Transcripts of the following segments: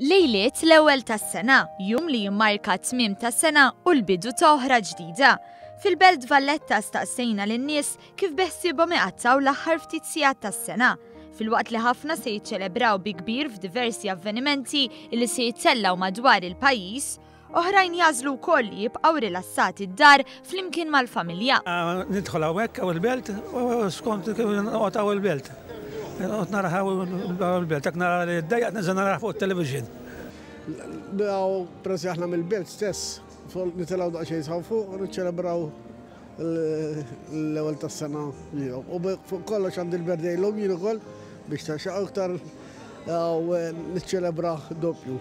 Lejliet l-ewwel tas-sena, jum li jimmarka t-tmiem ta' sena u l-bidu ta' oħra ġdida. Fil-Belt Valletta staqsejna lin-nies kif beħsiebhom iqattgħu l-aħħar ftit sigħat tas-sena. Filwaqt li ħafna se jiċċelebraw bi kbir f'diversi avvenimenti li se jittellgħu madwar il-pajjiż, oħrajn jagħżlu wkoll li jibqgħu rilassati d-dar flimkien mal-familja. Nidħol hawnhekk hawn il-belt u skont kif noqgħod hawn il-belt. Noqgħod nara hawn il-belt, jekk nara li ddejjaq ninżel nara fuq it-television. Nilgħu peress li aħna mill-belt stess, nitilgħu daqsxejn sa fuq u niċċelebraw l-ewwel tas-sena lilhom. U fuq kollox għandi l-birthday llum jien ukoll biex ta' aktar u niċċelebra doppju.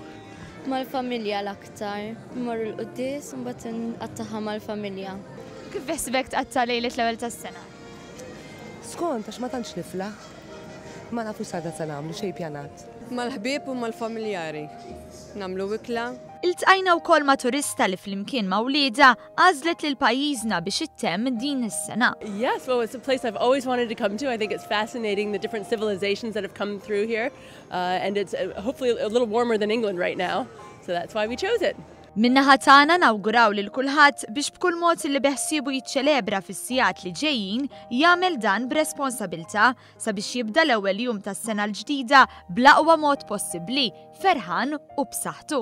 Mal-familja l-aktar, mmorru l-quddies u mbagħad nqattagħha mal-familja. Kif beħsibek tqatta' lejlet l-ewwel tas-sena? Skont għax ma tantx niflaħ. Ma nafux s'għada se nagħmlu xejn pjanat. Mal-ħbieb u mal-familjari. Nagħmlu ikla. Iltqajna wkoll ma' turista li flimkien ma' wliedha għażlet lil pajjiżna biex ittemm din is-sena. Yes, well, it's a place I've always wanted to come to. I think it's fascinating the different civilizations that have come through here. And it's hopefully a little warmer than England right now. So that's why we chose it. Min-naħa tagħna nawguraw lil kulħadd biex b'kull mod li beħsiebu jiċċelebra fis-sigħat li ġejjin jagħmel dan b'responsabilità sabiex jibda l-ewwel jum tas-sena l-ġdida bl-aqwa mod possibbli, ferħan u b'saħħtu.